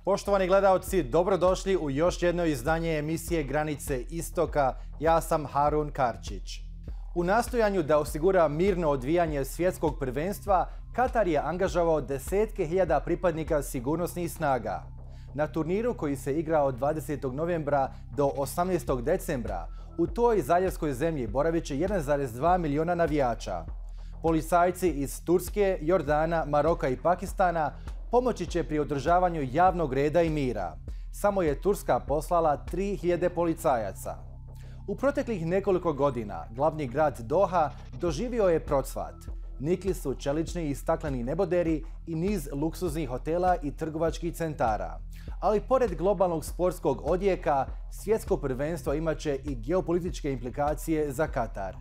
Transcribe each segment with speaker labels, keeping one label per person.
Speaker 1: Poštovani gledaoci, dobrodošli u još jedno izdanje emisije Granice Istoka. Ja sam Harun Karčić. U nastojanju da osigura mirno odvijanje svjetskog prvenstva, Katar je angažovao desetke hiljada pripadnika sigurnosnih snaga. Na turniru koji se igra od 20. novembra do 18. decembra, u toj zaljevskoj zemlji boravit će 1,2 miliona navijača. Policajci iz Turske, Jordana, Maroka i Pakistana pomoći će pri održavanju javnog reda i mira. Samo je Turska poslala 3000 policajaca. U proteklih nekoliko godina glavni grad Doha doživio je procvat. Nikli su čelični i stakleni neboderi i niz luksuznih hotela i trgovačkih centara. Ali pored globalnog sportskog odjeka, svjetsko prvenstvo imaće i geopolitičke implikacije za Katar.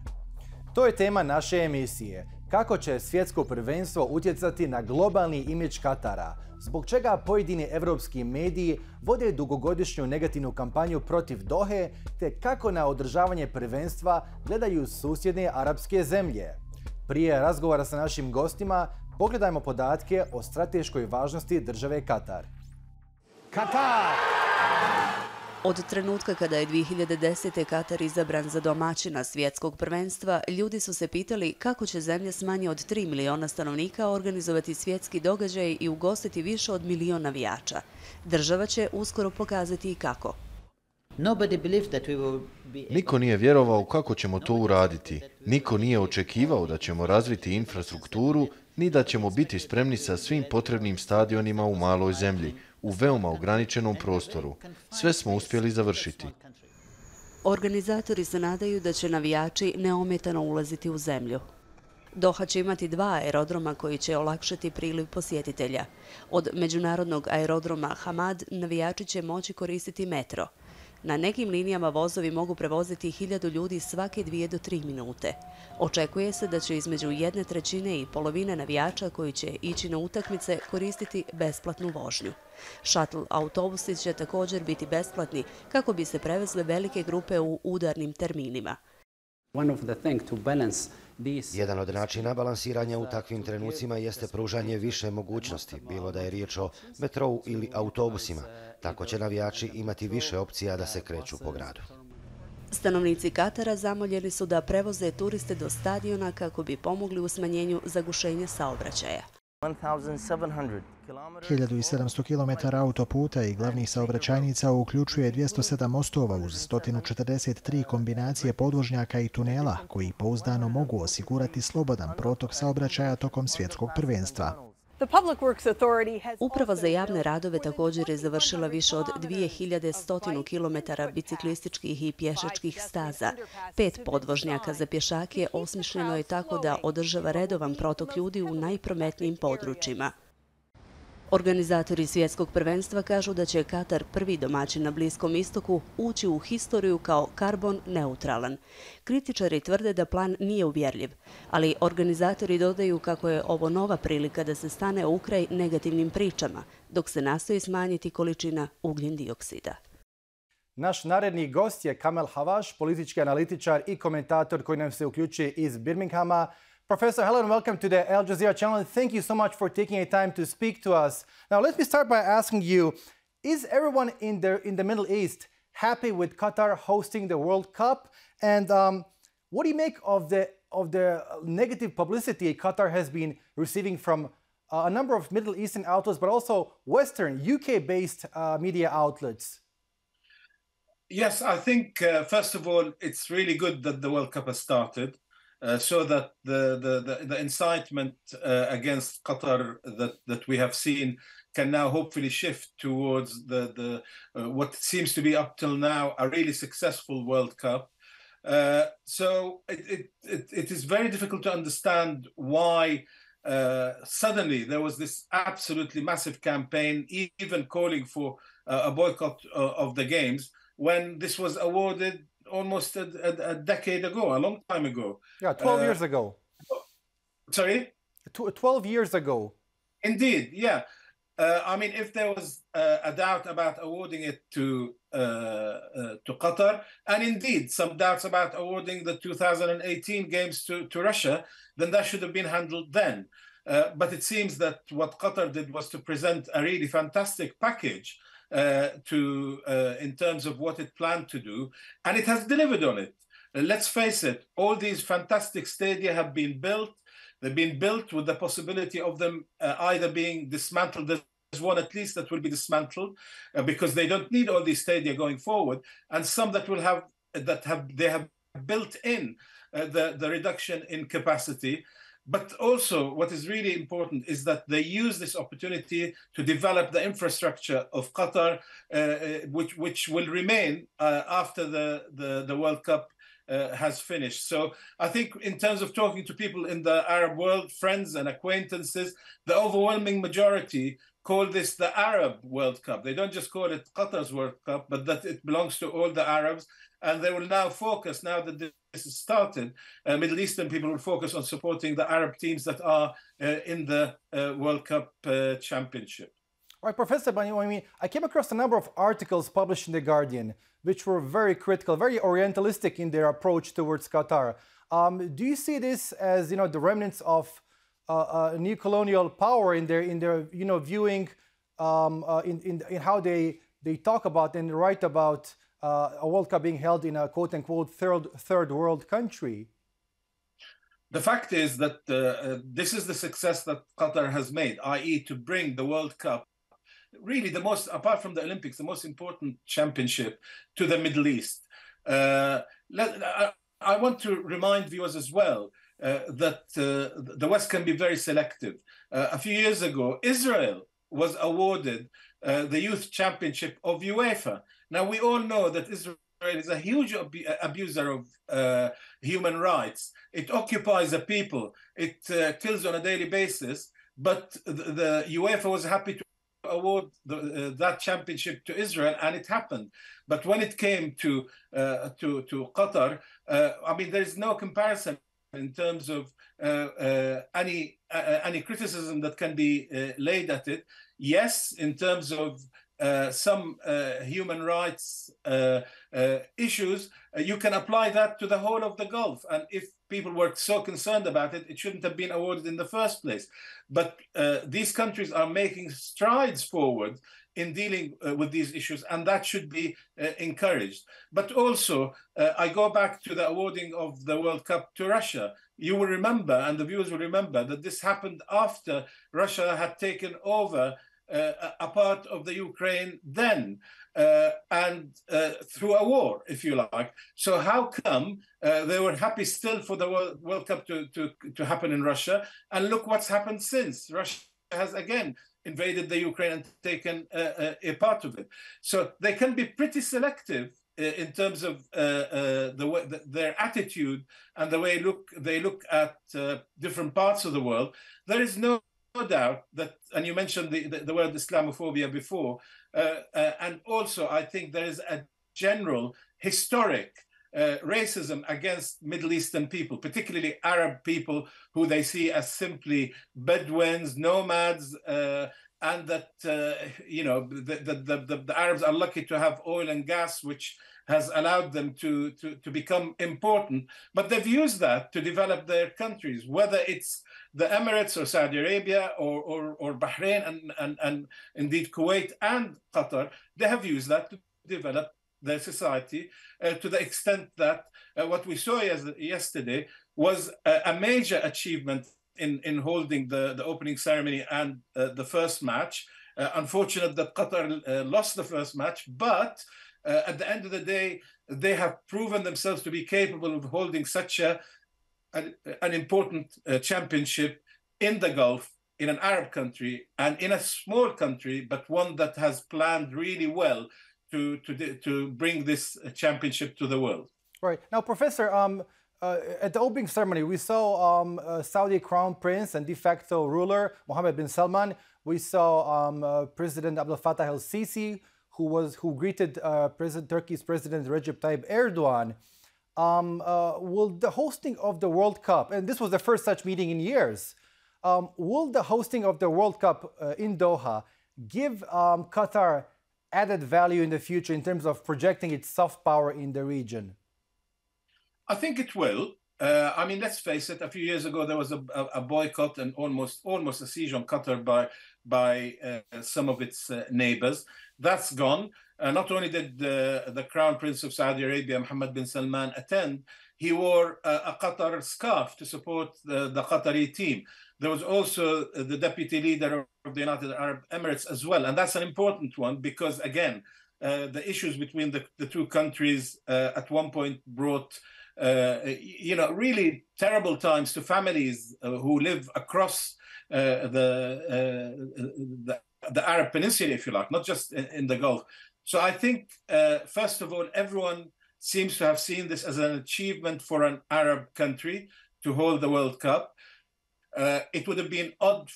Speaker 1: To je tema naše emisije. Kako će svjetsko prvenstvo utjecati na globalni imidž Katara? Zbog čega pojedini evropski mediji vode dugogodišnju negativnu kampanju protiv Dohe, te kako na održavanje prvenstva gledaju susjedne arapske zemlje? Prije razgovora sa našim gostima, pogledajmo podatke o strateškoj važnosti države Katar. Katar!
Speaker 2: Od trenutka kada je 2010. Katar izabran za domaćina svjetskog prvenstva, ljudi su se pitali kako će zemlja s manje od 3 miliona stanovnika organizovati svjetski događaj i ugostiti više od milion navijača. Država će uskoro pokazati i kako.
Speaker 3: Niko nije vjerovao kako ćemo to uraditi. Niko nije očekivao da ćemo razviti infrastrukturu, ni da ćemo biti spremni sa svim potrebnim stadionima u maloj zemlji, u veoma ograničenom prostoru. Sve smo uspjeli završiti.
Speaker 2: Organizatori se nadaju da će navijači neometano ulaziti u zemlju. Doha će imati 2 aerodroma koji će olakšati priliv posjetitelja. Od međunarodnog aerodroma Hamad navijači će moći koristiti metro. Na nekim linijama vozovi mogu prevoziti 1000 ljudi svake 2 do 3 minute. Očekuje se da će između 1/3 i polovine navijača koji će ići na utakmice koristiti besplatnu vožnju. Shuttle autobusi će također biti besplatni kako bi se prevezle velike grupe u udarnim terminima.
Speaker 4: Jedan od načina balansiranja u takvim trenucima jeste pružanje više mogućnosti, bilo da je riječ o metrou ili autobusima. Tako će navijači imati više opcija da se kreću po gradu.
Speaker 2: Stanovnici Katara zamoljeni su da prevoze turiste do stadiona kako bi pomogli u smanjenju zagušenja saobraćaja.
Speaker 5: 1700 km autoputa i glavnih saobraćajnica uključuje 207 mostova uz 143 kombinacije podvožnjaka i tunela koji pouzdano mogu osigurati slobodan protok saobraćaja tokom svjetskog prvenstva.
Speaker 2: Uprava za javne radove također je završila više od 2100 km biciklističkih i pješačkih staza. 5 podvožnjaka za pješake osmišljeno je tako da održava redovan protok ljudi u najprometnijim područjima. Organizatori svjetskog prvenstva kažu da će Katar, prvi domaćin na Bliskom istoku, ući u historiju kao karbon neutralan. Kritičari tvrde da plan nije uvjerljiv, ali organizatori dodaju kako je ovo nova prilika da se stane u kraj negativnim pričama, dok se nastoji smanjiti količina ugljen dioksida.
Speaker 1: Naš naredni gost je Kamel Havaš, politički analitičar i komentator koji nam se uključuje iz Birminghama. Professor, hello and welcome to the Al Jazeera channel, and thank you so much for taking a time to speak to us. Now, let me start by asking you, is everyone in the Middle East happy with Qatar hosting the World Cup? And what do you make of the negative publicity Qatar has been receiving from a number of Middle Eastern outlets, but also Western, UK-based media outlets?
Speaker 6: Yes, I think, first of all, it's really good that the World Cup has started. So that the incitement against Qatar that we have seen can now hopefully shift towards the what seems to be up till now a really successful World Cup. So it is very difficult to understand why suddenly there was this absolutely massive campaign, even calling for a boycott of the games, when this was awarded almost a decade ago, a long time ago.
Speaker 1: Yeah, 12 years ago.
Speaker 6: Sorry?
Speaker 1: 12 years ago.
Speaker 6: Indeed, yeah. I mean, if there was a doubt about awarding it to Qatar, and indeed some doubts about awarding the 2018 games to Russia, then that should have been handled then. But it seems that what Qatar did was to present a really fantastic package in terms of what it planned to do, and it has delivered on it. Let's face it, all these fantastic stadia have been built. They've been built with the possibility of them either being dismantled. There's one at least that will be dismantled because they don't need all these stadia going forward, and some that will have built in the reduction in capacity. But also, what is really important is that they use this opportunity to develop the infrastructure of Qatar, which will remain after the World Cup has finished. So I think in terms of talking to people in the Arab world, friends and acquaintances, the overwhelming majority call this the Arab World Cup. They don't just call it Qatar's World Cup, but that it belongs to all the Arabs. And they will now focus, now that this has started, Middle Eastern people will focus on supporting the Arab teams that are in the World Cup championship.
Speaker 1: All right, Professor Banyoumy, I came across a number of articles published in The Guardian, which were very critical, very orientalistic in their approach towards Qatar. Do you see this as, the remnants of new colonial power in their viewing in how they talk about and write about a World Cup being held in a quote-unquote third world country?
Speaker 6: The fact is that this is the success that Qatar has made, i.e. to bring the World Cup, really the most, apart from the Olympics, the most important championship to the Middle East. I want to remind viewers as well that the West can be very selective. A few years ago, Israel was awarded the Youth Championship of UEFA. Now, we all know that Israel is a huge abuser of human rights. It occupies a people. It kills on a daily basis. But the UEFA was happy to award that championship to Israel, and it happened. But when it came to Qatar, there is no comparison in terms of any criticism that can be laid at it. Yes, in terms of some human rights issues, you can apply that to the whole of the Gulf. And if people were so concerned about it, it shouldn't have been awarded in the first place. But these countries are making strides forward in dealing with these issues, and that should be encouraged. But also, I go back to the awarding of the World Cup to Russia. You will remember, and the viewers will remember, that this happened after Russia had taken over a part of the Ukraine then, and through a war, if you like. So how come they were happy still for the World Cup to happen in Russia? And look what's happened since. Russia has again invaded the Ukraine and taken a part of it. So they can be pretty selective in terms of their attitude and the way they look at different parts of the world. There is no doubt that, and you mentioned the word Islamophobia before, and also I think there is a general historic racism against Middle Eastern people, particularly Arab people, who they see as simply Bedouins, nomads, and that the Arabs are lucky to have oil and gas, which has allowed them to become important. But they've used that to develop their countries, whether it's the Emirates or Saudi Arabia or Bahrain and indeed Kuwait and Qatar. They have used that to develop their society to the extent that what we saw yesterday was a major achievement in holding the opening ceremony and the first match. Unfortunate that Qatar lost the first match, but at the end of the day, they have proven themselves to be capable of holding such an important championship in the Gulf, in an Arab country, and in a small country, but one that has planned really well to bring this championship to the world.
Speaker 1: Right. Now, Professor, at the opening ceremony, we saw Saudi Crown Prince and de facto ruler Mohammed bin Salman. We saw President Abdel Fattah el-Sisi, who greeted Turkey's President Recep Tayyip Erdogan. Will the hosting of the World Cup, and this was the first such meeting in years, will the hosting of the World Cup in Doha give Qatar added value in the future in terms of projecting its soft power in the region?
Speaker 6: I think it will. I mean, let's face it. A few years ago, there was a boycott and almost a siege on Qatar by some of its neighbors. That's gone. Not only did the Crown Prince of Saudi Arabia, Mohammed bin Salman, attend, he wore a Qatar scarf to support the Qatari team. There was also the deputy leader of the United Arab Emirates as well. And that's an important one because, again, the issues between the two countries at one point brought really terrible times to families who live across the Arab Peninsula, if you like, not just in the Gulf. So I think, first of all, everyone seems to have seen this as an achievement for an Arab country to hold the World Cup. It would have been odd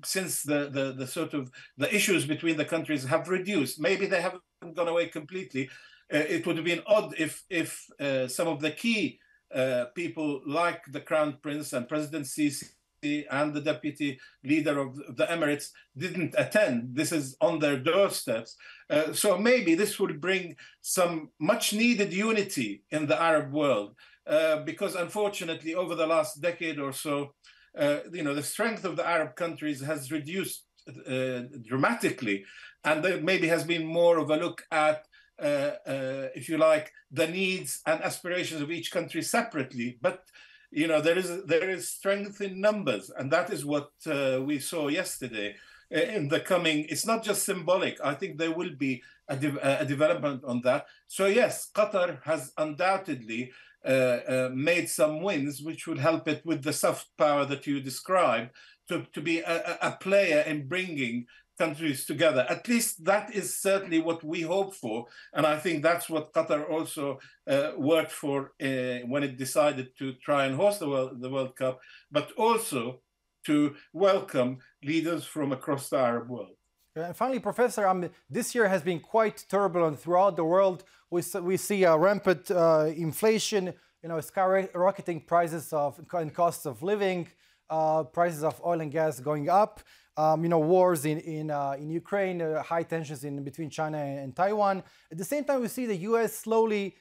Speaker 6: since the issues between the countries have reduced. Maybe they haven't gone away completely. It would have been odd if some of the key people like the Crown Prince and President Sisi and the deputy leader of the Emirates didn't attend. This is on their doorsteps. So maybe this will bring some much needed unity in the Arab world because unfortunately over the last decade or so, the strength of the Arab countries has reduced dramatically. And there maybe has been more of a look at, if you like, the needs and aspirations of each country separately. But there is strength in numbers, and that is what we saw yesterday. In the coming, it's not just symbolic. I think there will be a development on that. So yes, Qatar has undoubtedly made some wins, which would help it with the soft power that you described to be a player in bringing countries together. At least that is certainly what we hope for. And I think that's what Qatar also worked for when it decided to try and host the World Cup, but also to welcome leaders from across the Arab world.
Speaker 1: And finally, Professor, this year has been quite turbulent throughout the world. We see a rampant inflation, skyrocketing prices and costs of living, prices of oil and gas going up. Wars in Ukraine, high tensions between China and Taiwan. At the same time, we see the U.S. slowly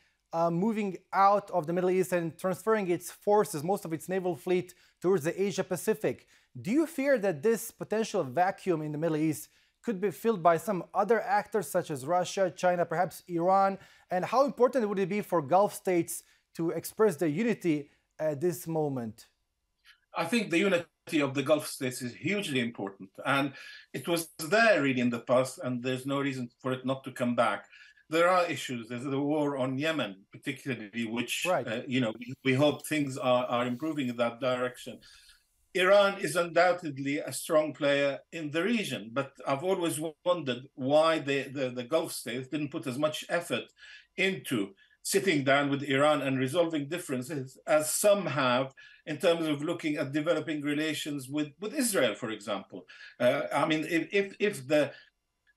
Speaker 1: moving out of the Middle East and transferring its forces, most of its naval fleet, towards the Asia Pacific. Do you fear that this potential vacuum in the Middle East could be filled by some other actors such as Russia, China, perhaps Iran? And how important would it be for Gulf states to express their unity at this moment?
Speaker 6: I think the unity of the Gulf states is hugely important. And it was there really in the past, and there's no reason for it not to come back. There are issues. There's the war on Yemen, particularly, which, right. We hope things are improving in that direction. Iran is undoubtedly a strong player in the region, but I've always wondered why the Gulf states didn't put as much effort into sitting down with Iran and resolving differences as some have in terms of looking at developing relations with Israel, for example. If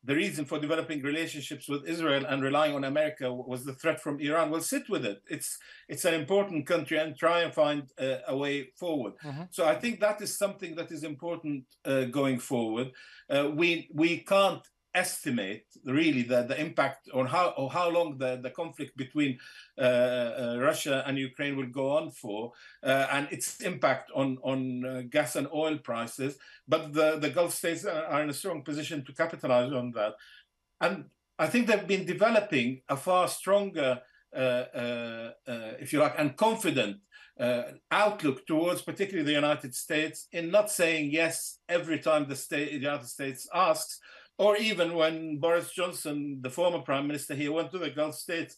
Speaker 6: the reason for developing relationships with Israel and relying on America was the threat from Iran, well, sit with it. It's an important country and try and find a way forward. Mm-hmm. So I think that is something that is important going forward. We can't estimate really the impact on how long the conflict between Russia and Ukraine will go on for, and its impact on gas and oil prices. But the Gulf states are in a strong position to capitalize on that. And I think they've been developing a far stronger, if you like, and confident outlook towards particularly the United States in not saying yes every time the United States asks, or even when Boris Johnson, the former prime minister here, went to the Gulf states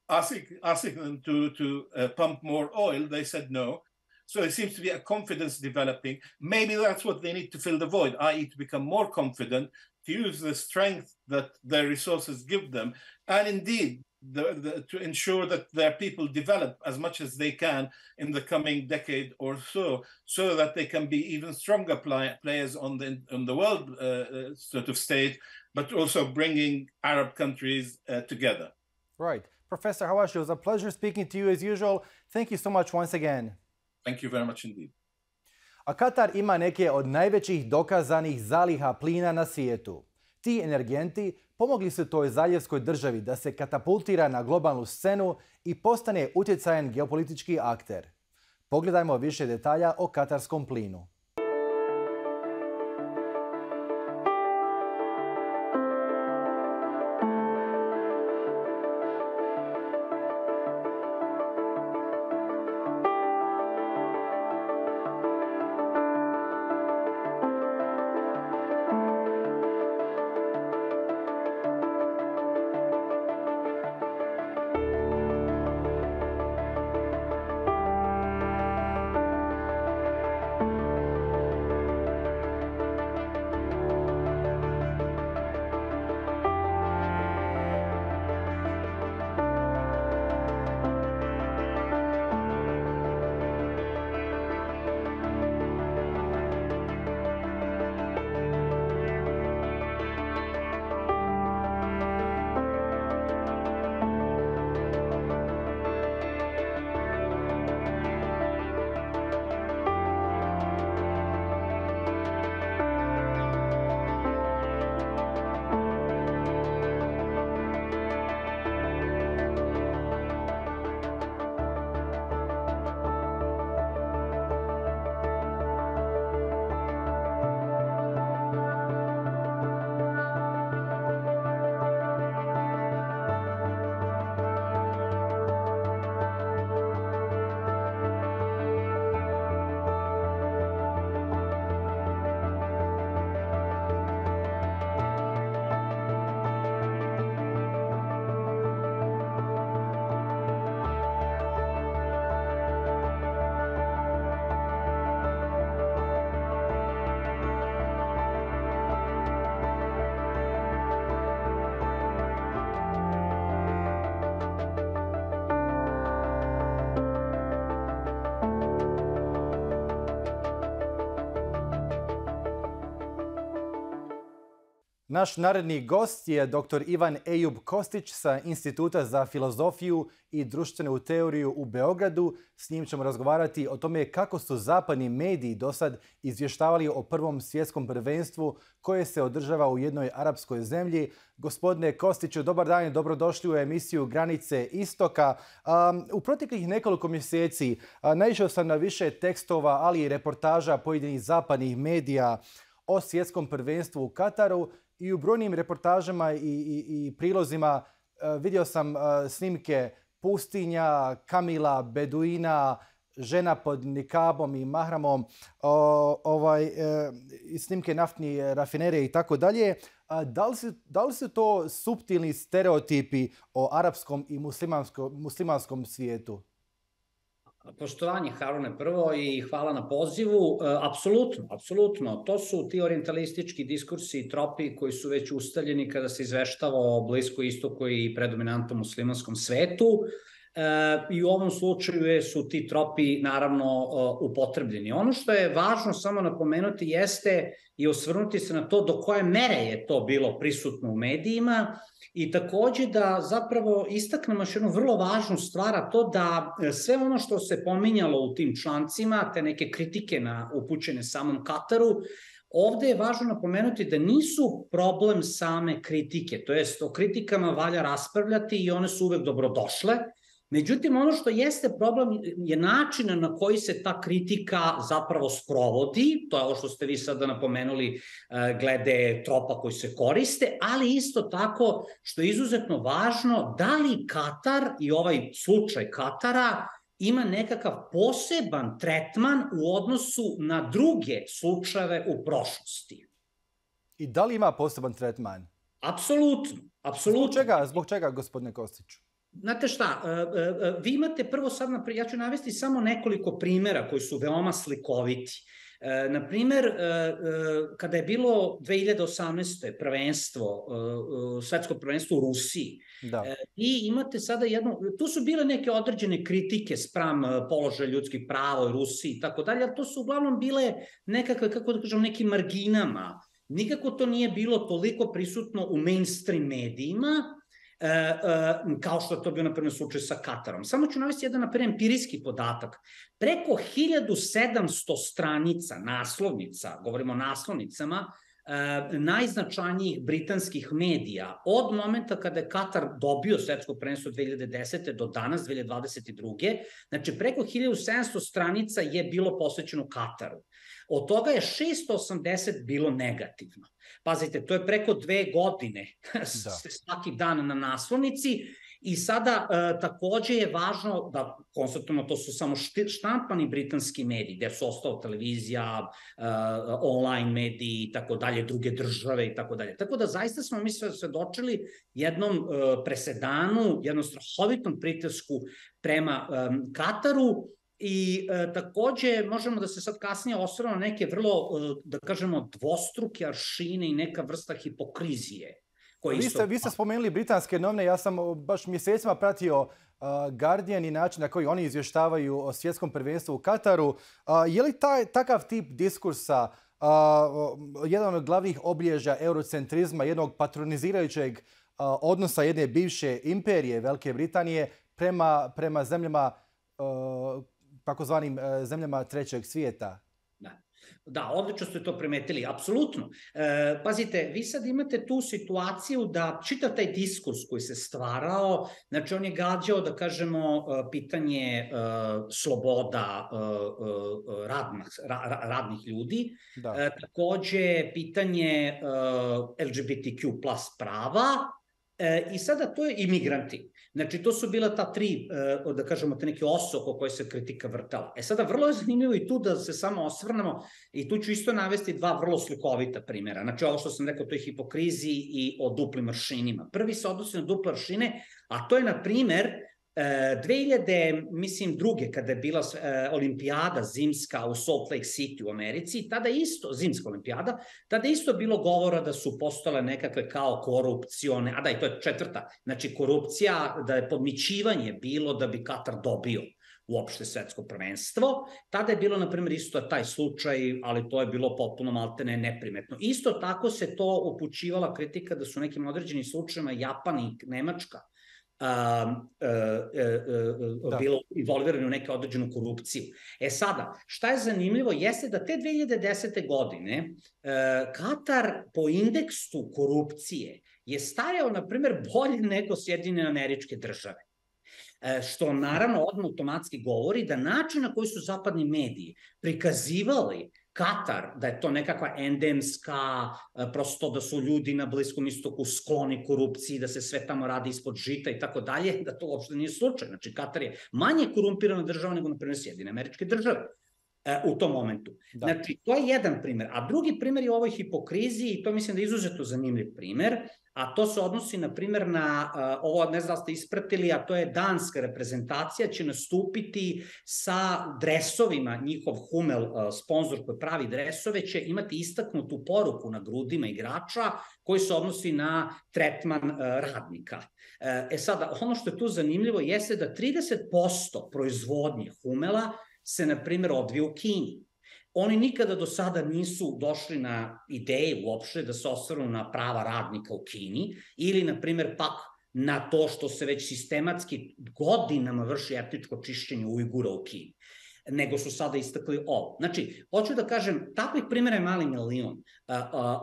Speaker 6: asking them to pump more oil, they said no. So there seems to be a confidence developing. Maybe that's what they need to fill the void, i.e. to become more confident, to use the strength that their resources give them, and indeed to ensure that their people develop as much as they can in the coming decade or so that they can be even stronger players on the world stage, but also bringing Arab countries together.
Speaker 1: Right. Professor Hawashi, it was a pleasure speaking to you as usual. Thank you so much once again.
Speaker 6: Thank you very much indeed.
Speaker 1: A Katar ima neke od najvećih dokazanih zaliha plina na svijetu. Ti energenti pomogli su toj zaljevskoj državi da se katapultira na globalnu scenu i postane utjecajan geopolitički akter. Pogledajmo više detalja o katarskom plinu. Naš naredni gost je dr. Ivan Ejub Kostić sa Instituta za filozofiju i društvenu teoriju u Beogradu. S njim ćemo razgovarati o tome kako su zapadni mediji dosad izvještavali o prvom svjetskom prvenstvu koje se održava u jednoj arapskoj zemlji. Gospodine Kostiću, dobar dan i dobrodošli u emisiju Granice istoka. U proteklih nekoliko mjeseci naišao sam na više tekstova, ali i reportaža pojedinih zapadnih medija o svjetskom prvenstvu u Kataru. I u brojnim reportažama i prilozima vidio sam snimke pustinja, kamila, beduina, žena pod nikabom i mahramom, snimke naftnih rafinerije i tako dalje. Da li su to suptilni stereotipi o arapskom i muslimanskom svijetu?
Speaker 7: Poštovanje, Harune, prvo i hvala na pozivu. Apsolutno. To su ti orijentalistički diskursi i tropi koji su već ustaljeni kada se izveštava o Bliskoj istoku i predominantnom muslimanskom svetu. I u ovom slučaju su ti tropi naravno upotrebljeni. Ono što je važno samo napomenuti jeste i osvrnuti se na to do koje mere je to bilo prisutno u medijima i takođe da zapravo istaknemo još jednu vrlo važnu stvar, a to da sve ono što se pominjalo u tim člancima, te neke kritike upućene samom Kataru, ovde je važno napomenuti da nisu problem same kritike, to jest o kritikama valja raspravljati i one su uvek dobrodošle. Međutim, ono što jeste problem je način na koji se ta kritika zapravo sprovodi, to je ovo što ste vi sada napomenuli glede tropa koji se koriste, ali isto tako što je izuzetno važno da li Katar i ovaj slučaj Katara ima nekakav poseban tretman u odnosu na druge slučajeve u prošlosti.
Speaker 1: I da li ima poseban tretman?
Speaker 7: Apsolutno.
Speaker 1: Zbog čega, gospodine Kostiću?
Speaker 7: Znate šta, vi imate prvo sad, ja ću navesti samo nekoliko primjera koji su veoma slikoviti. Naprimer, kada je bilo 2018. prvenstvo, svetsko prvenstvo u Rusiji, i imate sada tu su bile neke određene kritike spram položaja ljudskih prava u Rusiji i tako dalje, ali to su uglavnom bile nekakve, kako da kažem, nekim marginama. Nikako to nije bilo toliko prisutno u mainstream medijima, kao što je to bio, na primjer, slučaj sa Katarom. Samo ću navesti jedan, na primjer, empirijski podatak. Preko 1700 stranica, naslovnica, govorimo o naslovnicama, najznačajnijih britanskih medija od momenta kada je Katar dobio svetsko prvenstvo 2010. do danas, 2022. Znači, preko 1700 stranica je bilo posvećeno Kataru. Od toga je 680 bilo negativno. Pazite, to je preko 2 godine svaki dan na naslovnici. I sada takođe je važno da konstatujemo, to su samo štampani britanski mediji, gde su ostao televizija, online mediji i tako dalje, druge države i tako dalje. Tako da zaista smo mi svedočili jednom presedanu, jednom strahovitom pritisku prema Kataru. I takođe možemo da se sad kasnije osvrnemo na neke vrlo, da kažemo, dvostruke aršine i neka vrsta hipokrizije.
Speaker 1: Vi ste spomenuli britanske novine, ja sam baš mjesecima pratio Guardian i način na koji oni izvještavaju o svjetskom prvenstvu u Kataru. Je li takav tip diskursa jedan od glavnih obilježja eurocentrizma, jednog patronizirajućeg odnosa jedne bivše imperije Velike Britanije prema zemljama, takozvanim zemljama trećeg svijeta?
Speaker 7: Da, odlično ste to primetili, apsolutno. Pazite, vi sad imate tu situaciju da čitav taj diskurs koji se stvarao, znači on je gađao, da kažemo, pitanje sloboda radnih ljudi, takođe pitanje LGBTQ plus prava, i sada to je imigranti. Znači, to su bila ta 3, da kažemo, te neke ose oko koje se kritika vrtala. Sada, vrlo je zanimljivo i tu da se samo osvrnemo i tu ću isto navesti 2 vrlo slikovita primjera. Znači, ovo što sam rekao, to je hipokriziji i o duplim aršinima. Prvi se odnosi na duple aršine, a to je, na primjer, 2002. kada je bila olimpijada zimska u Salt Lake City u Americi, tada isto, zimska olimpijada, tada isto bilo govora da su postale nekakve kao korupcione, a da, i to je 4. Znači, korupcija, da je podmićivanje bilo da bi Katar dobio uopšte svetsko prvenstvo. Tada je bilo, na primjer, isto taj slučaj, ali to je bilo potpuno maltene neprimetno. Isto tako se to upućivala kritika da su nekim određenim slučajima Japan i Nemačka bilo involvirano u neke određenu korupciju. Sada, šta je zanimljivo jeste da te 2010. godine Katar po indeksu korupcije je stajao, na primjer, bolje nego Sjedinjene Američke Države. Što naravno odmah automatski govori da način na koji su zapadni mediji prikazivali Katar, da je to nekakva endemska, prosto da su ljudi na Bliskom istoku skloni korupciji, da se sve tamo radi ispod žita i tako dalje, da to uopšte nije slučaj. Znači, Katar je manje korumpirana država nego, na primjer, Sjedinjene Američke Države u tom momentu. Znači, to je jedan primjer. A drugi primjer je u ovoj hipokriziji, i to mislim da je izuzetno zanimljiv primjer, a to se odnosi, na primjer, na ovo, ne znam da ste ispratili, a to je danska reprezentacija će nastupiti sa dresovima, njihov Hummel, sponsor koji pravi dresove, će imati istaknutu poruku na grudima igrača koji se odnosi na tretman radnika. Sada, ono što je tu zanimljivo jeste da 30% proizvodnje Hummela se, na primjer, odvije u Kini. Oni nikada do sada nisu došli na ideju uopšte da se osvrnu na prava radnika u Kini ili, na primjer, pak na to što se već sistematski godinama vrši etničko čišćenje Ujgura u Kini, nego su sada istakli ovo. Znači, hoću da kažem, takvih primjera je mali milion,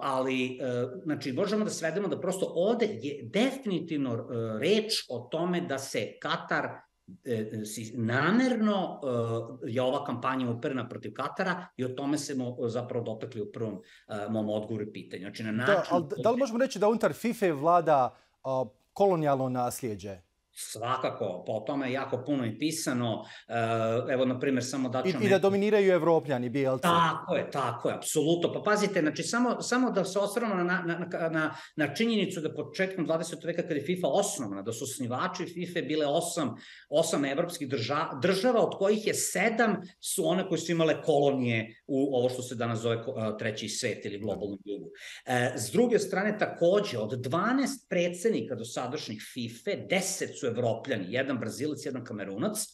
Speaker 7: ali, znači, možemo da svedemo da prosto ovde je definitivno reč o tome da se Katar namerno je ova kampanja uperena protiv Katara i o tome se zapravo dotakli u prvom mom odgovoru i pitanju. Znači, na način...
Speaker 1: Da li možemo reći da unutar FIFA vlada kolonijalno nasljeđe?
Speaker 7: Svakako, po tome je jako puno i pisano. Evo, na primjer, samo da ću...
Speaker 1: I da dominiraju Evropljani, bijelci.
Speaker 7: Tako je, apsolutno. Pa pazite, znači, samo da se osvrnemo na činjenicu da početkom 20. veka kada je FIFA osnovana, da su osnivači FIFA bile 8 evropskih država, od kojih je 7 su one koje su imale kolonije u ovo što se danas zove treći svet ili globalnom jugu. S druge strane, takođe, od 12 predsednika dosadašnjih FIFA, 10 su Evropljani, jedan Brazilac, jedan Kamerunac,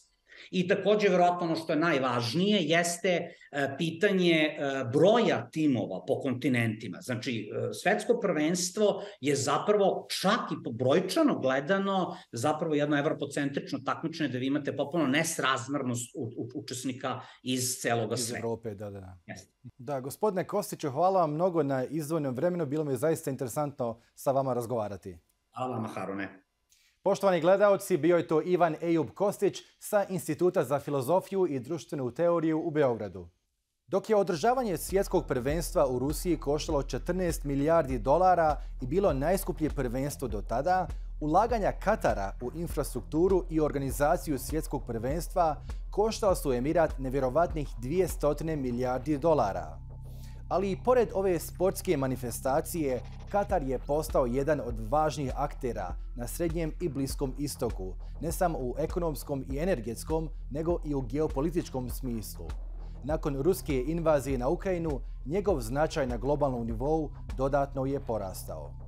Speaker 7: I takođe, verovatno, ono što je najvažnije jeste pitanje broja timova po kontinentima. Znači, svetsko prvenstvo je zapravo čak i brojčano gledano zapravo jedno evropocentrično takmičenje da vi imate potpuno nesrazmernost učesnika iz celoga sveta.
Speaker 1: Iz Evrope, da. Da, gospodine Kostiću, hvala vam mnogo na izdvojenom vremenu. Bilo mi je zaista interesantno sa vama razgovarati.
Speaker 7: Hvala vama, Harune.
Speaker 1: Poštovani gledaoci, bio je to Ivan Ejub Kostić sa Instituta za filozofiju i društvenu teoriju u Beogradu. Dok je održavanje svjetskog prvenstva u Rusiji koštalo 14 milijardi dolara i bilo najskuplje prvenstvo do tada, ulaganja Katara u infrastrukturu i organizaciju svjetskog prvenstva koštala su Emirat nevjerovatnih 200 milijardi dolara. Ali i pored ove sportske manifestacije, Katar je postao jedan od važnijih aktera na Srednjem i Bliskom istoku, ne samo u ekonomskom i energetskom, nego i u geopolitičkom smislu. Nakon ruske invazije na Ukrajinu, njegov značaj na globalnom nivou dodatno je porastao.